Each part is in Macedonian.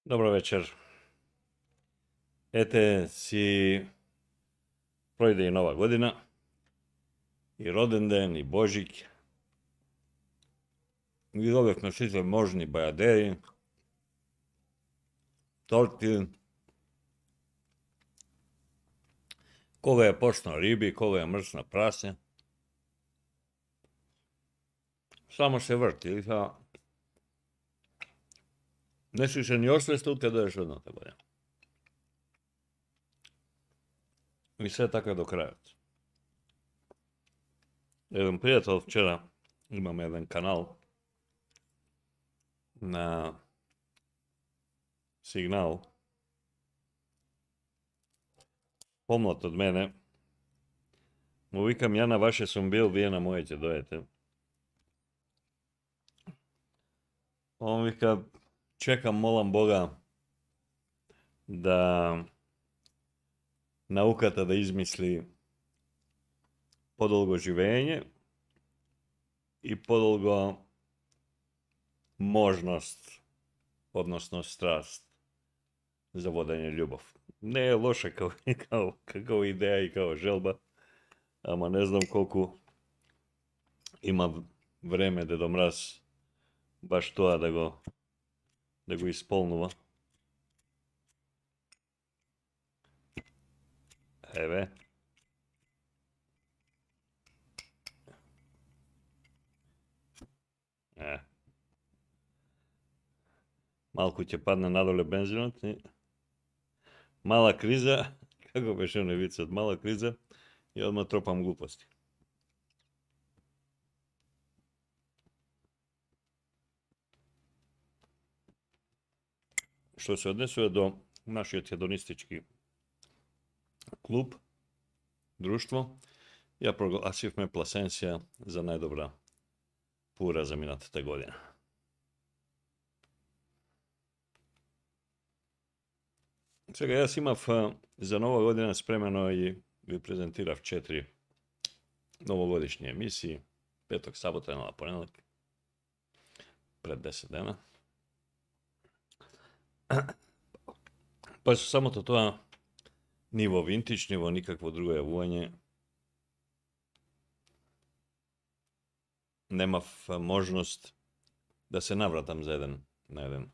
Dobro večer. Ете си пројде и нова година, и роден ден, и Божик. Ги добивме сите можни бајадери, торти, кога е почна риби, кога е мрсна прасе. Само се врти, и не си се ни освестил каде е едната година. И се така до крајот. Еден пријател вчера, имаме еден канал на Сигнал, помлад од мене, му викам, ја на ваше сум бил, вие на моје ќе дојдете. Он вика, чекам, молам Бога да науката да измисли подолго живење и подолго можност, односно страст за водење љубов. Не е лоша како идеја и како желба, ама не знам колку има време Дедо Мраз баш тоа да го исполнува. Еве. Малку ќе падне надоле бензинот. Мала криза, како беше оној вицот, мала криза и одма тропам глупости. Што се однесува до нашиот хедонистички клуб, друштво, ја прогласивме Пласенсија за најдобра пура за минатата година. Сега јас имав за нова година спремено и ви презентирав 4 новогодишни емисии, петок, сабота, недела, понеделник, пред 10 дена. Па со самото тоа ниво винтич, ниво никакво друго јавување, немав можност да се навратам за еден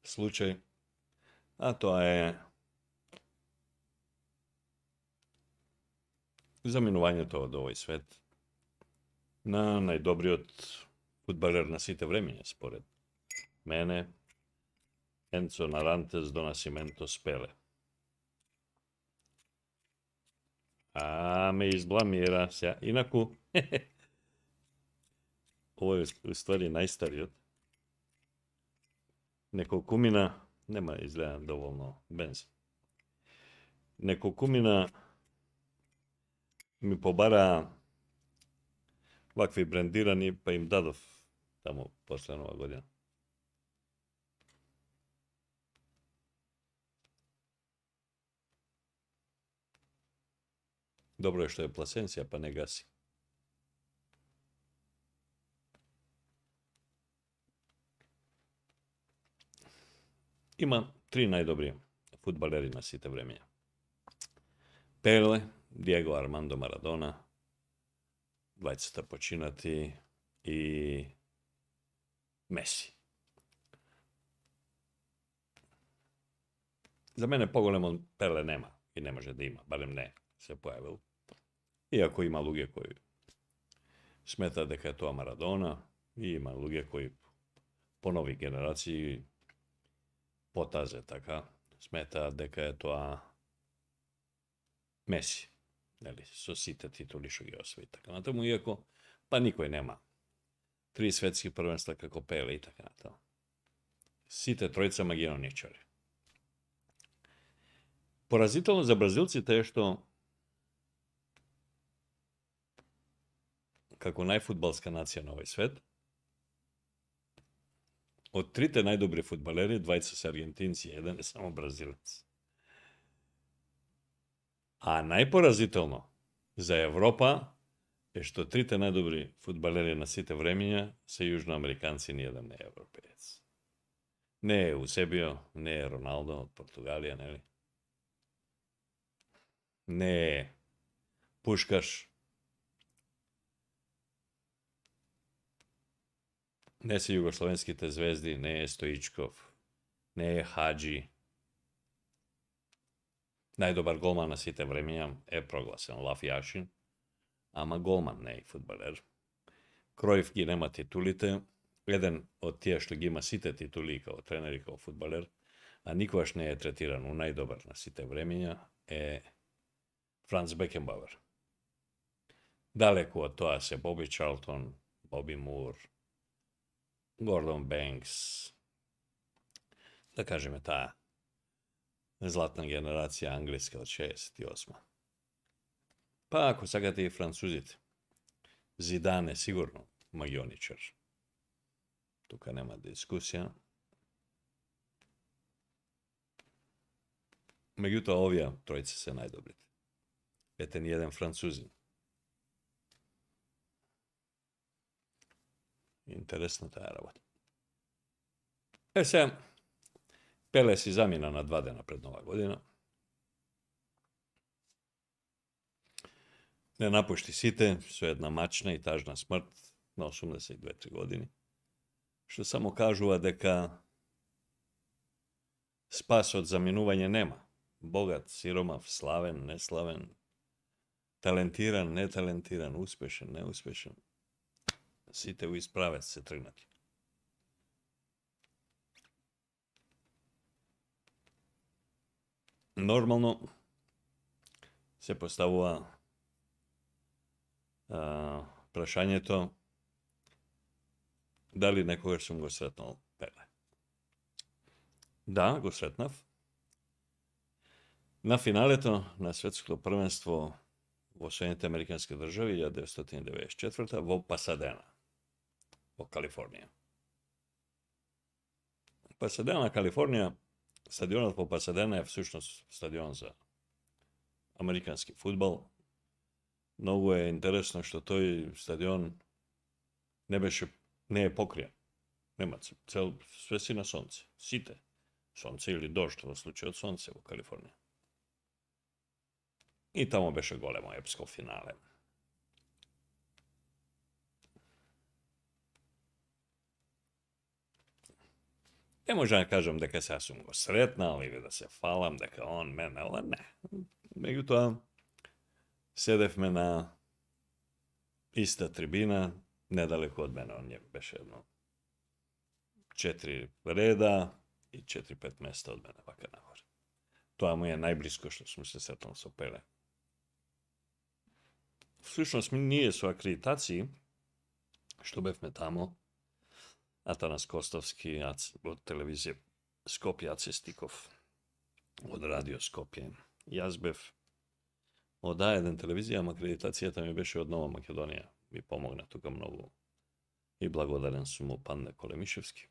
случај, а тоа е заминувањето од овој свет на најдобриот фудбалер на сите времења, според мене, Енцо Нарантес до Насименто Спеле. Ме избламира се. Инаку, ово е у ствари најстариот. Неколкумина, нема изгледа доволно бензин. Неколкумина ми побара вакви брендирани, па им дадов таму после нова година. Добро е што е Пласенсија, па не гаси. Има 3 најдобри фудбалери на сите времења. Пеле, Диего Армандо Марадона, двајцата починати, и Меси. За мене поголем од Пеле нема и не може да има, барем не се појавил. Иако има луѓе кои сметаат дека е тоа Марадона, и има луѓе кои по нови генерации потазе така сметаат дека е тоа Меси. Нели, со сите титули што ги освои така натаму, иако па никој нема 3 светски првенства како Пеле и така натаму. Сите тројца магионичари. Поразително за бразилците е што како најфудбалска нација на овој свет, од 3 најдобри фудбалери, 2 се аргентинци, еден е само бразилец. А најпоразително за Европа е што 3 најдобри фудбалери на сите времења се јужноамериканци, ни еден не е европеец. Не je Eusebio, ne je Ronaldo od Portugalija, ne li? Ne je Puškaš. Ne su jugoslovenski te zvezdi, ne je Stoičkov, ne je Hadži. Najdobar golman na site vremenja je proglasen Laf Jašin, ама голман, не и фудбалер. Кројф ги нема титулите, еден од тие што ги има сите титули као тренер и као фудбалер, а никогаш не е третиран у најдобар на сите времења, е Франц Бекенбауер. Далеку од тоа се Боби Чарлтон, Боби Мур, Гордон Бенкс, да кажеме таа златна генерација англиска од 68. Па ако сакате и французите, Зидан е сигурно магионичар. Тука нема дискусија. Меѓутоа овие тројци се најдобрите. Ете ни еден французин. Интересна таа работа. Се, Пеле си замина на 2 дена пред Нова година. Не напушти сите со една мачна и тажна смрт на 82-3 години, што само кажува дека спас од заминување нема. Богат, сиромав, славен, неславен, талентиран, неталентиран, успешен, неуспешен. Сите у исправец се тргнати. Нормално се поставува прашањето дали некогаш сум го сретнал Пеле. Да, го сретнав. На финалето на светското првенство во Соединените Американски држави 1994 во Пасадена, во Калифорнија. Пасадена, Калифорнија, стадионот во Пасадена е всушност стадион за американски фудбал. Многу е интересно што тој стадион не е покриен. Нема све си на сонце. Сите. Сонце или дожд во случајот сонце во Калифорнија. И тамо беше големо епско финале. Не може да кажам дека сега сум го сретнал или да се фалам дека он мене, ала не. Меѓутоа, седевме на иста трибина, недалеку од мене, он беше едно 4 реда и 4-5 места од мене вака нагоре. Тоа му е најблиско што сум се сретнал со Пеле. Всушност, ние со акредитацији, што бевме тамо, Атанас Костовски од телевизија Скопје, Аце Стиков од радио Скопје. Јас бев од А1 телевизија, ама акредитацијата ми беше од Нова Македонија. Ми помогна тука многу. И благодарен сум му Панде Колемишевски.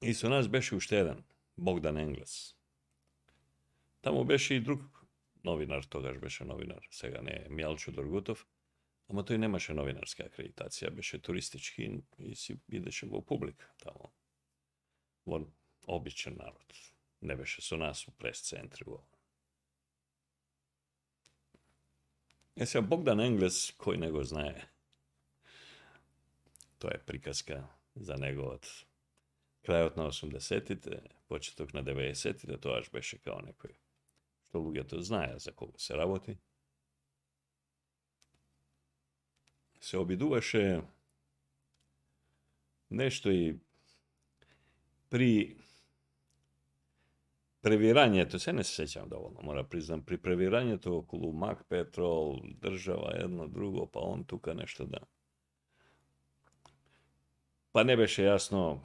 И со нас беше уште еден, Богдан Енглес. Таму беше и друг новинар, тогаш беше новинар, сега не е, Мјалчо Доргутов, ама тој немаше новинарска акредитација, беше туристички и си идеше во публика тамо, во обичен народ. Не беше со нас у прес-центри. Сега Богдан Енглес, кој не го знае, тоа е приказка за него од крајот на 80-тите, почеток на 90-тите, тоаш беше као некој што луѓето знаеа за кого се работи. Се обидуваше нешто и при превирањето, се не се сеќам доволно, мора признам, при превирањето околу Мак Петрол, држава, едно, друго, па он тука нешто да. Па не беше јасно,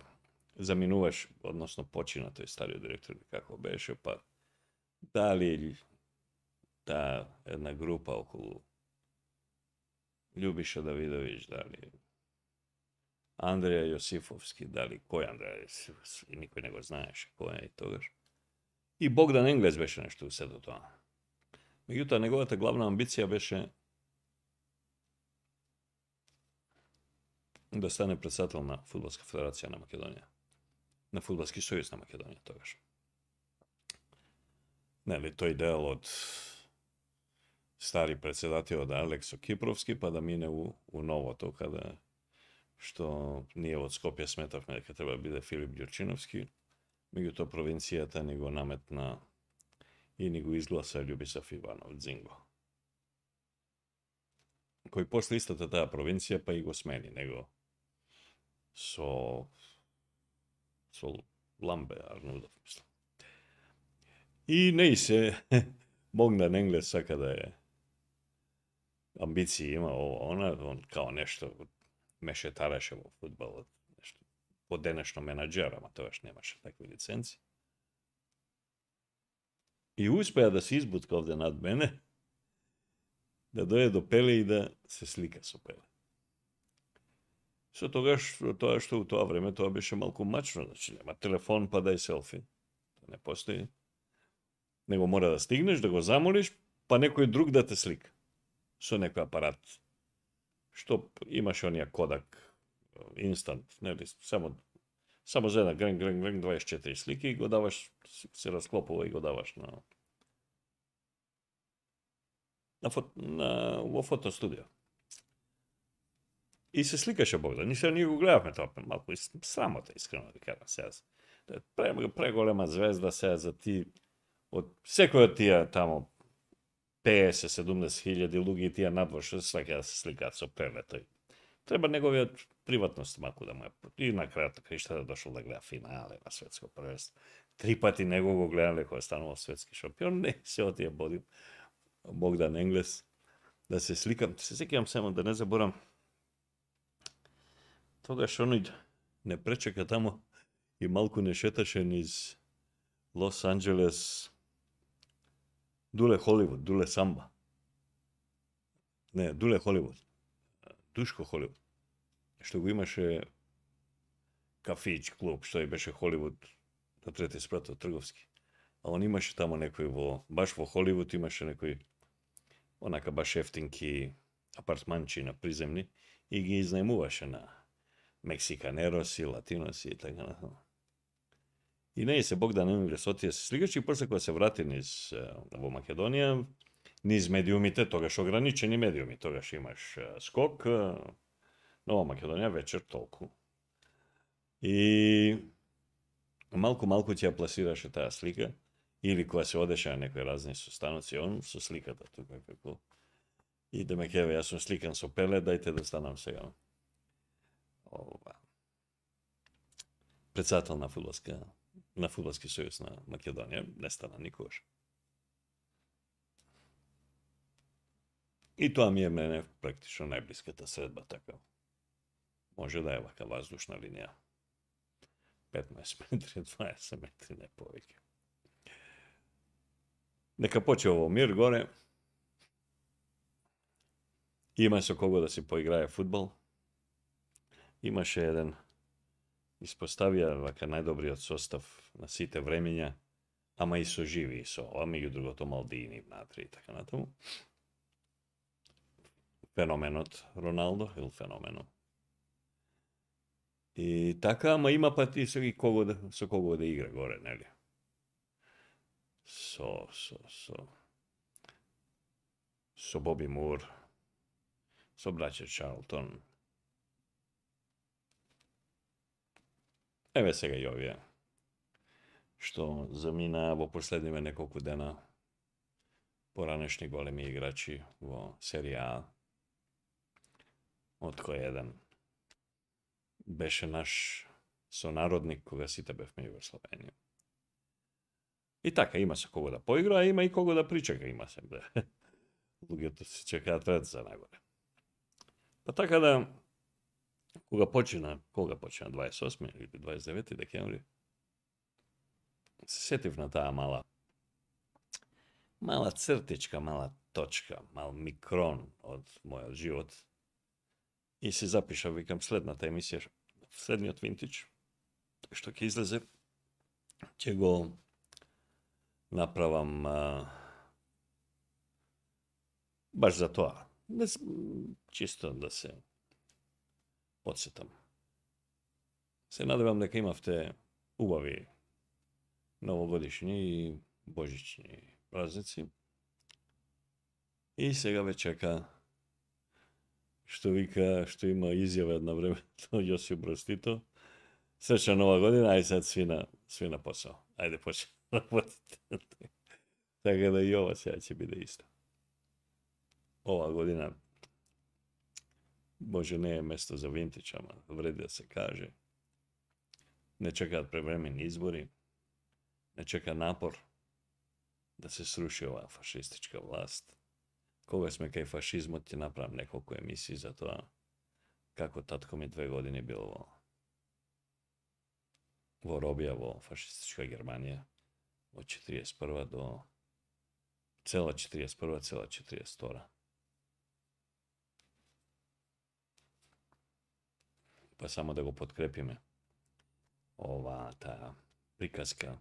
заминуваш, односно почина тој стариот директор, како беше, па дали таа една група околу Љубиша Давидовиќ, дали Андреја Јосифовски, дали кој Андреја Јосифовски, никој не го знаеше кој е и тогаш. И Богдан Енглес беше нешто у сето тоа. Меѓутоа, неговата главна амбиција беше да стане председател на Фудбалска федерација на Македонија. На Фудбалски сојуз на Македонија тогаш. Нели, тој дел од стари председател од Алексо Кипровски, па да мине у новото, каде што ние од Скопје сметавме дека треба да биде Филип Ѓурчиновски, меѓутоа провинцијата ни го наметна и ни го изгласа Љубисав Иванов Дзинго, кој после истата таа провинција па и го смени него со Ламбе Арнудов, мислам. И не се Богдан Енглес сака да е амбиции има он као нешто мешетареше во фудбалот, нешто поденешно менаџер, ама тогаш немаше такви лиценци. И успеа да се избутка овде над мене, да дојде до Пеле и да се слика со Пеле. Со тогаш, тоа што у тоа време, тоа беше малку мачно, значи нема телефон па дај селфи. Тоа не постои. Него мора да стигнеш, да го замолиш, па некој друг да те слика. Со некој апарат. Што имаше онија Кодак, инстант, нели, само за една гренг, 24 слики и го даваш, се расклопува и го даваш во фотостудио. И се сликаше Богдан. Ние го гледавме тоа, малку срамота, искрено да кажам сега. Преголема звезда сега за ти, од секој од тие тамо 50-70 хиљади луѓе и тие надвор што сака да се сликаат со Пеле тој. Треба неговиот приватност малку да му е. И на крајот краишта да дошол да гледа финале на светско првенство. 3 пати него го гледале кога станувал светски шампион, не се отие Богдан Енглес да се сликам. Се сеќавам само да не заборам. Тогаш оној не пречека тамо и малку не шеташе низ Лос Анџелес Дуле Холивуд, Дуле Самба. Не, Дуле Холивуд. Душко Холивуд. Што го имаше кафич, клуб, што и беше Холивуд на трети спрат од Трговски. А он имаше тамо некој баш во Холивуд имаше некој онака баш ефтинки апартманчи на приземни и ги изнајмуваше на мексиканероси, латиноси и така натаму. И не се Богдан Енглес отие се слигаше и после кога се врати низ во Македонија, низ медиумите, тогаш ограничени медиуми, тогаш имаш Скок, Нова Македонија вечер толку. И малку ќе ја пласираше таа слика, или кога се одеше на некои разни состаноци, он со сликата тука како. И да ме кеве, јас сум сликан со Пеле, дајте да станам сега. Председател на Фудбалски сојуз на Македонија, не стана никогаш. И тоа ми е мене практично најблиската средба така. Може да е вака воздушна линија. 15 метри, 20 метри, не повеќе. Нека почне во мир горе. Има со кого да си поиграе фудбал. Имаше еден, испоставија вака најдобриот состав на сите времења, ама и со живи, и со ова, меѓу другото Малдини, Натри и така натаму. Феноменот Роналдо, или феноменот. И така, ама има пати со кого да игра горе, нели? Со Боби Мур, со браќа Чарлтон. Еве сега и овие, што замина во последниве неколку дена поранешни големи играчи во серија А, од кој еден беше наш сонародник кога сите бевме Југославија. И така, има се кого да поигра, а има и кого да причека, има се. Луѓето се чекаат ред за најгоре. Па така да, кога почина 28 или 29 декември, се сетив на таа мала цртичка, мала точка, мал микрон од мојот живот. И се запишав, викам, следната емисија, следниот винтич, што ќе излезе, ќе го направам баш за тоа. Чисто да се подсетам. Се надевам дека имавте убави новогодишни и божични празници. И сега ве чека, што вика, што има изјава една време Јосип Брз Тито. Сречна нова година, ај сад сви на посao. Ајде почне работите. Така да и ова сега ќе биде исто. Ова година може не е место за винтич, ама вреди да се каже. Не чекаат превремени избори, не чека напор да се сруши оваа фашистичка власт. Кога сме кај фашизмот, ќе направам неколку емисии за тоа како татко ми 2 години бил во робија во фашистичка Германија од 41 до цела 41, цела 42. Па само да го подкрепиме оваа таа приказка,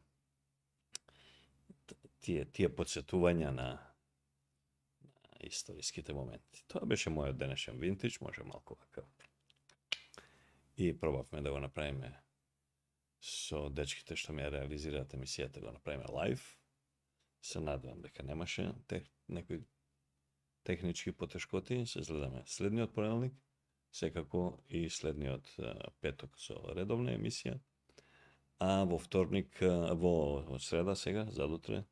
тие подсетувања на историските моменти. Тоа беше мојот денешен винтич, може малку вака. И пробавме да го направиме со дечките што ми ја реализираат емисијата, го направиме лайв. Се надевам дека немаше некои технички потешкоти. Се гледаме следниот понеделник, секако и следниот петок со редовна емисија. А во вторник, во среда сега, задутре,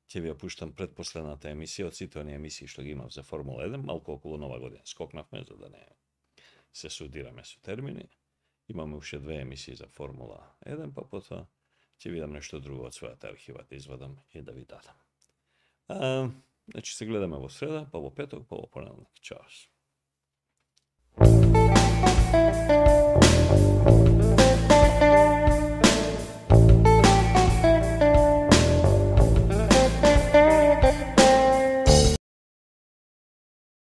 ќе ви ја пуштам предпоследната емисија од сите оние емисии што ги имав за Формула 1, малку околу нова година скокнавме за да не се судираме со термини. Имаме уште 2 емисии за Формула 1, па потоа ќе видам нешто друго од својата архива да извадам и да ви дадам. Значи се гледаме во среда, па во петок, па во понеделник. Чао.